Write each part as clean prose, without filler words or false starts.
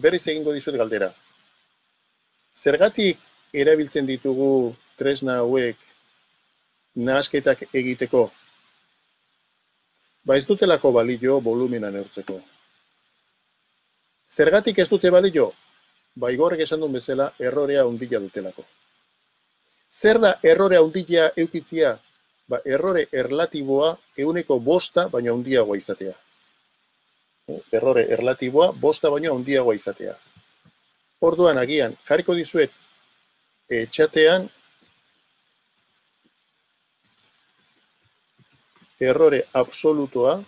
berriz egingo dizut galdera. Zergatik erabiltzen ditugu tresna hauek nahasketak egiteko? Ba ez dutelako balio volumena neurtzeko. Zergatik ez dute balio? Ba Igorrek esan duen bezala, errorea handia dutelako. Zer da errore handia eukitzia? Ba errore erlatiboa 5% baino handiagoa izatea. Errore erlatiboa 5 baino handiagoa izatea. Orduan agian jarriko dizuet txatean errore absolutoa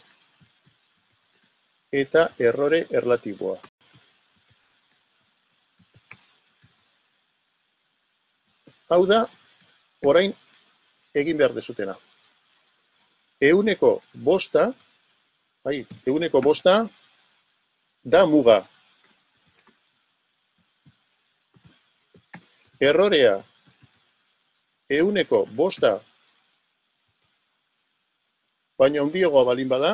eta errore erlatiboa. Hau da, orain egin behar dezutena. 5%, 5% da muga. Errorea 5% baina handiagoa balin bada,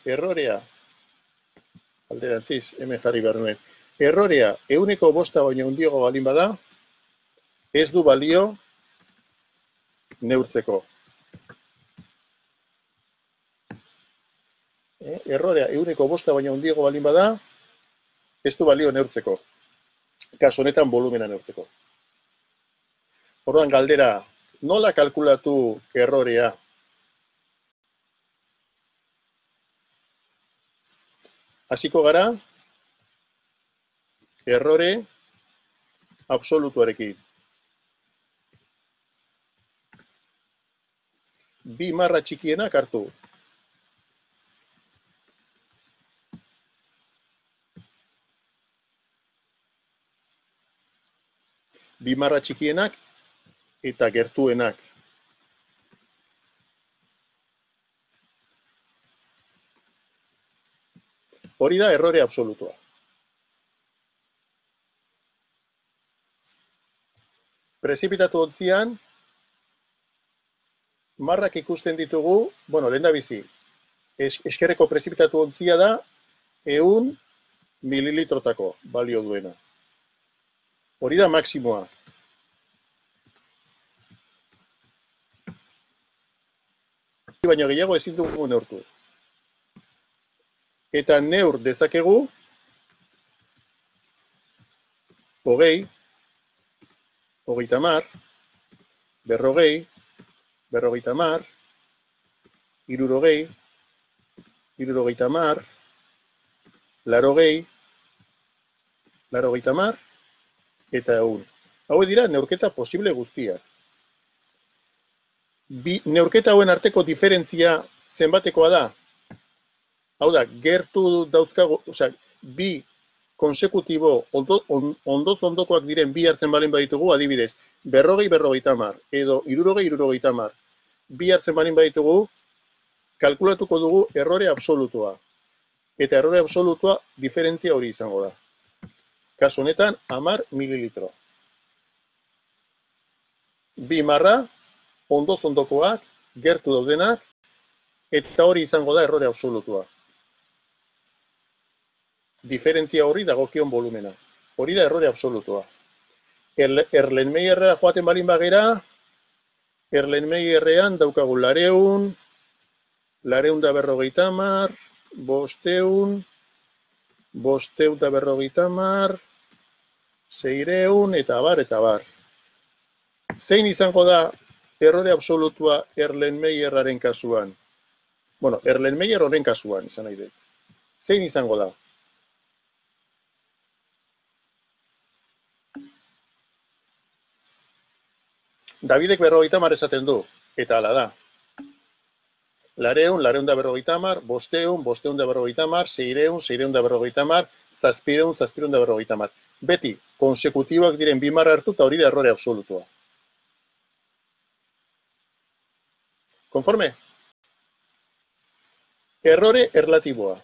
errorea, alderantziz, hemen jarri behar nuen, errorea 5% baina handiagoa balin bada, ez du balio neurtzeko. Errorea 5% baina handiagoa balin bada, ez du balio neurtzeko. Kasu honetan volumena neurtzeko. Orduan galdera, nola kalkulatu errorea? Hasiko gara, errore absolutuarekin. 2 marra txikienak hartu. Bi marra txikienak eta gertuenak. Hori da errore absolutua. Prezipitatu ontzian, marrak ikusten ditugu, bueno, lehendabizi, eskerreko prezipitatu ontzia da 100 mililitrotako balio duena. Hori da maksimoa. Baina gehiago ezin dugu neurtu. Eta neur dezakegu 20, 30, 40, 50, 60, 70, 80, 90, eta 100. Hau dira neurketa posible guztiak. Neurketa hauen arteko diferentzia zenbatekoa da? Hau da, gertu dauzkago, bi konsekutibo ondoz ondokoak diren bi hartzen balin baditugu, adibidez, 40-50 edo 60-70 bi hartzen balin baditugu, kalkulatuko dugu errore absolutua. Eta errore absolutua diferentzia hori izango da. Kasu honetan, 10 mililitro. Bi marra, ondoz ondokoak, gertu daudenak, eta hori izango da errore absolutua. Diferentzia horri dagokion volumena. Hori da errore absolutua. Erlenmeyerra joaten balin bagera, Erlenmeyerrean daukagu 200, 250, 500, 550, 600, eta bar. Zein izango da errore absolutua Erlenmeyerraren kasuan? Bueno, Erlenmeyer horren kasuan, izan nahi dut. Zein izango da? Davidek 50 esaten du, eta hala da. 200, 250, 500, 550, 600, 650, 700, 750. Beti, konsekutiboak diren bi marra hartu, eta hori da errore absolutua. Konforme? Errore erlatiboa.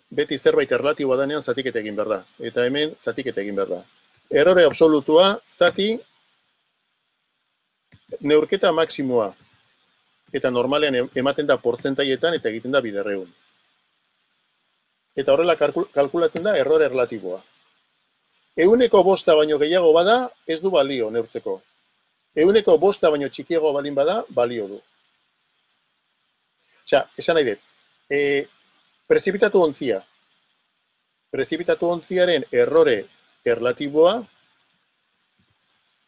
Beti zerbait erlatiboa danean zatiketa egin behar da. Eta hemen zatiketa egin behar da. Errore absolutua, zati neurketa maksimoa. Eta normalean ematen da portzentaietan eta egiten da 200. Eta horrela kalkulatzen da errore erlatiboa. 100 baino gehiago bada, ez du balio neurtzeko. 100 baino txikiago balin bada, balio du. Osea, esan nahi dut, prezipitatu ontzia. Prezipitatu ontziaren errore erlatiboa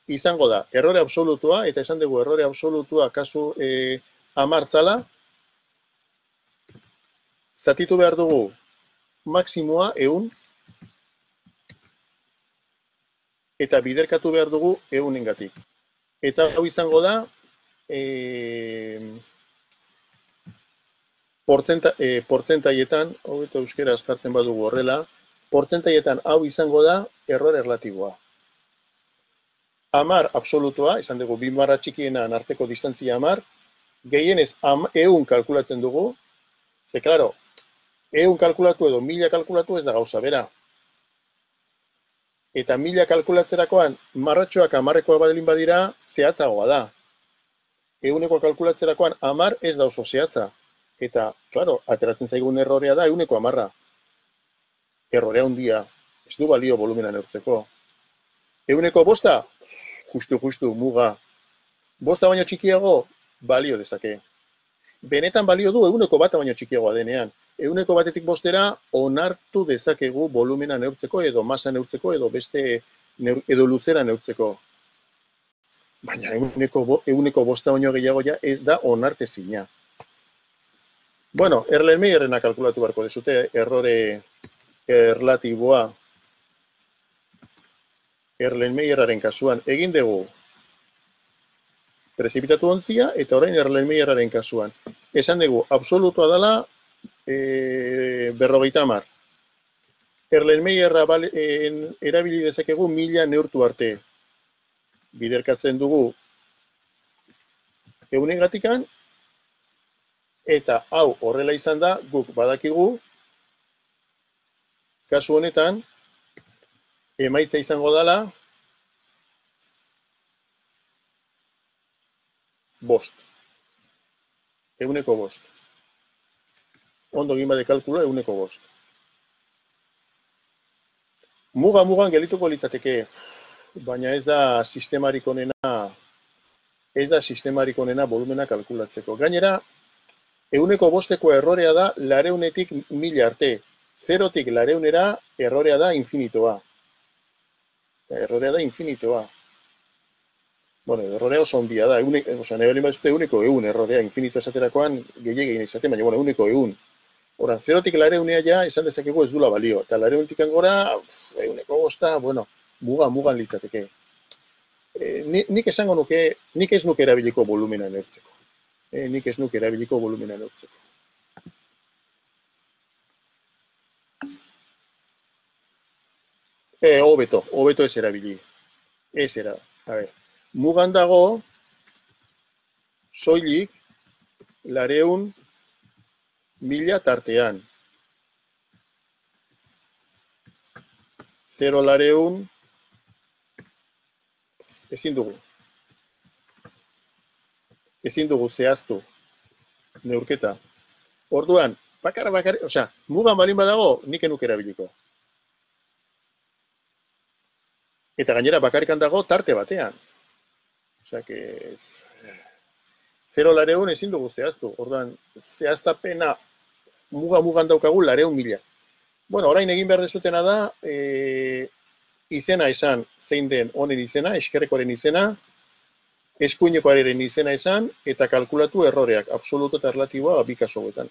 izango da errore absolutua, eta esan dugu errore absolutua kasu 10 zala, zatitu behar dugu maksimoa 100, eta biderkatu behar dugu 100-engatik. Eta hau izango da portzentaietan, hau eta euskera askartzen badugu horrela, portzentaietan hau izango da errore erlatiboa. 10 absolutua, esan dugu 2 barra txikienan arteko distantzia 10, gehienez 100 kalkulatzen dugu, ze, klaro, 100 kalkulatu edo 1000 kalkulatu ez da gauza bera. Eta 1000 kalkulatzerakoan, marratxoak 10-ekoa badalin badira, zehatzagoa da. 100-ekoa kalkulatzerakoan 10 ez da oso zehatza. Eta, klaro, ateratzen zaigun errorea da 110. Errorea handia, ez du balio volumena neurtzeko. 105, justu, muga. 5 baino txikiago, balio dezake. Benetan balio du 101 baino txikiagoa denean. 101-etik 5-era onartu dezakegu volumena neurtzeko, edo masa neurtzeko, edo beste edo luzera neurtzeko. Baina 105 baino gehiago ja ez da onartezina. Bueno, Erlenmeyerrena kalkulatu beharko dezute, errore erlatiboa. Erlenmeyerraren kasuan egin dugu prezipitatu ontzia, eta orain Erlenmeyerraren kasuan. Esan dugu, absolutua dela 50. Erlenmeyerra erabili dezakegu 1000 neurtu arte. Biderkatzen dugu 100-engatikan, eta hau horrela izan da, guk badakigu, kasu honetan, emaitza izango dela 5. 105. Ondo egin bade kalkula 105. Mugan gelituko litzateke, baina ez da sistemarik onena volumena kalkulatzeko. Gainera, 105-eko errorea da 200-etik 1000 arte. 0-tik 200-era errorea da infinitoa. Errorea da infinitoa. Bueno, errorea oso ondia da. Nahi balin bat zute 100 errorea infinito esaterakoan gehiagin izaten, baina 100. Hora, 0-tik 200-ea ja esan dezakegu ez dula balio. Eta 200-tik gora, 105, bueno, mugan litzateke. Nik esango nuke, nik ez nuke erabiliko volumena neurtzeko. Hobeto ez erabili. A ver, mugan dago, soilik, 200.000 tartean. 0-200, ezin dugu zehaztu neurketa. Orduan, bakar, osea, mugan balin badago, nik enuk erabiliko. Eta gainera bakarrikan dago tarte batean. Osea, que 0-200 ezin dugu zehaztu. Orduan, zehaztapena mugan daukagu 200.000. Bueno, orain egin behar dezutena da, izena esan zein den honen izena, eskerrekoaren izena, eskuinekoaren izena esan, eta kalkulatu erroreak, absoluto eta erlatiboa bi kasu hauetan.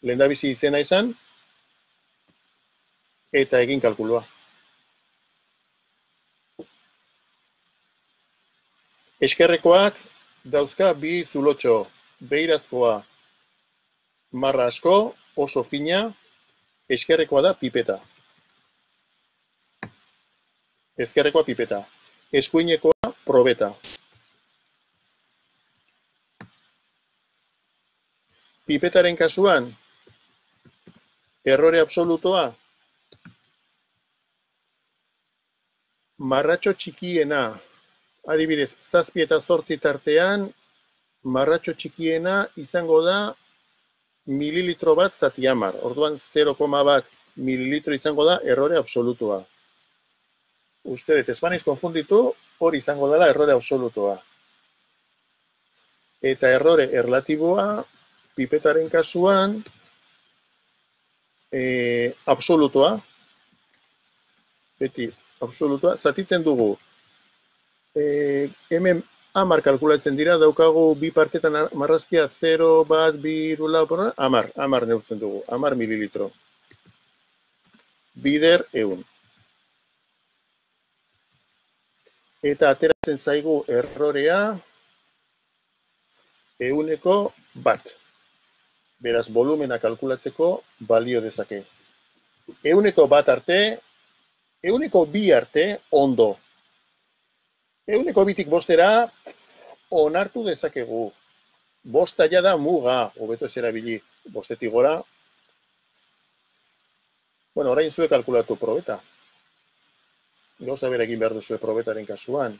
Lehendabizi izena esan, eta egin kalkulua. Eskerrekoak dauzka bi zulotxo, beirazkoa marra asko, oso fina, eskerrekoa da pipeta. Ezkerrekoa pipeta. Eskuinekoa probeta. Pipetaren kasuan, errore absolutoa, marratxo txikiena Adibidez, 7 eta 8 tartean, marratxo txikiena izango da mililitro bat zati 10. Orduan 0,1 mililitro izango da errore absolutua. Uste dut, ez banaiz konfunditu, hori izango dela errore absolutua. Eta errore erlatiboa, pipetaren kasuan, absolutua, beti absolutua, zatitzen dugu. Hemen 10 kalkulatzen dira, daukagu bi partetan marrazkia 0, bat, 2, 3, 10 neurtzen dugu, 10 mililitro. Bider 100. Eta ateratzen zaigu errorea 100%. Beraz, volumena kalkulatzeko balio dezake. 100% arte, 102 arte, ondo. 102tik 5 onartu dezakegu. 5 ja da muga, hobeto ez erabili 5etik gora. Bueno, orain zuek kalkulatu probeta. Gauza bera egin behar duzue probetaren kasuan.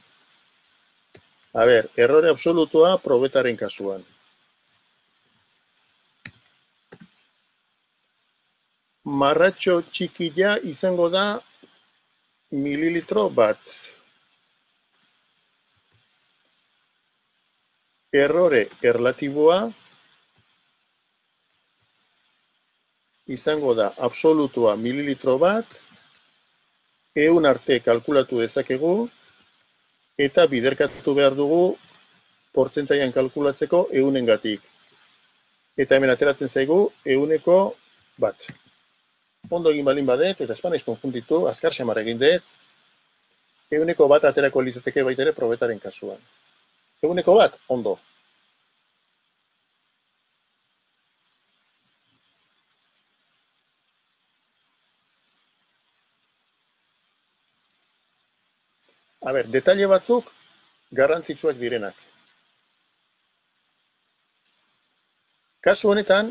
A ber, errore absolutua probetaren kasuan. Marratxo txikila izango da mililitro bat. Errore erlatiboa izango da absolutua mililitro bat, 100 arte kalkulatu dezakegu, eta biderkatu behar dugu portzentaian kalkulatzeko 100-gatik. Eta hemen ateratzen zaigu 100%. Ondo egin balin badet, eta espanaiz konfunditu, azkar xamar egin dut, 100% aterako litzateke baita ere probetaren kasuan. 100%, ondo. A ber, detalle batzuk garrantzitsuak direnak. Kasu honetan,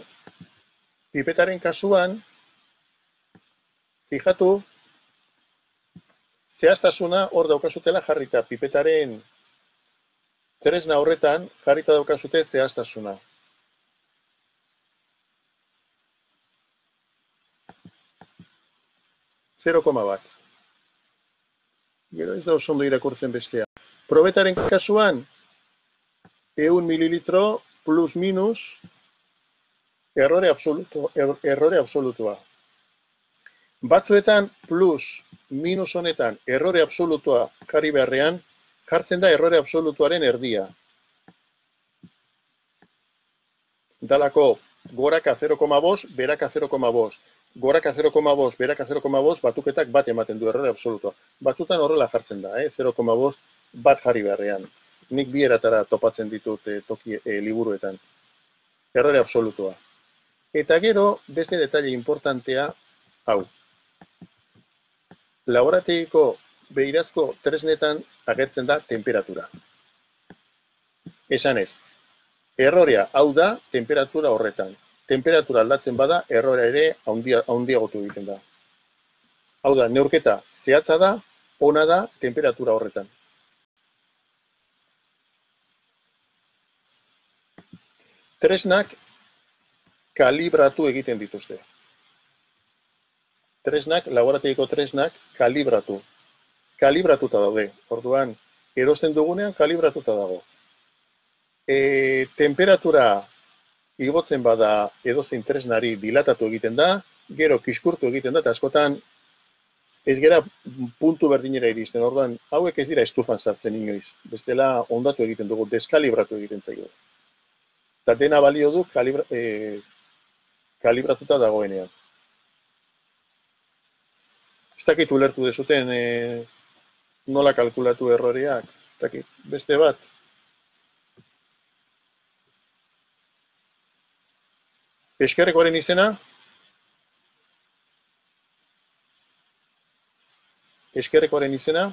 pipetaren kasuan, fijatu, zehaztasuna hor daukazutela jarrita, pipetaren tresna horretan jarrita daukazute zehaztasuna. (0,1). Gero ez da oso ondo irakurtzen bestea. Probetaren kasuan, 100 mililitro plus minus errore absolutua. Batzuetan plus minus honetan errore absolutua jarri beharrean, jartzen da errore absolutuaren erdia. Dalako goraka 0,5, beraka 0,5. Goraka 0,5, beraka 0,5, batuketak bat ematen du errore absolutua. Batzutan horrela jartzen da, 0,5 bat jarri beharrean. Nik bi eratara topatzen ditut liburuetan. Errore absolutua. Eta gero, beste detalle importantea, hau. Laborategiko beirazko tresnetan agertzen da temperatura. Esanez, errorea hau da temperatura horretan. Temperatura aldatzen bada, errorea ere handiagotu egiten da. Hau da, neurketa zehatza da, ona da temperatura horretan. Tresnak kalibratu egiten dituzte. Laborategiko tresnak kalibratu. Kalibratuta daude. Orduan, erosten dugunean kalibratuta dago. Temperatura igotzen bada edozein tresnari dilatatu egiten da, gero kiskurtu egiten da, eta askotan ez gera puntu berdinera iristen. Orduan, hauek ez dira estufan sartzen inoiz. Bestela ondatu egiten dugu, deskalibratu egiten zaigu. Eta dena balio du kalibratuta dagoenean. Ez dakit ulertu dezuten nola kalkulatu erroreak. Ez dakit, beste bat. Eskerrekoaren izena? Eskerrekoaren izena?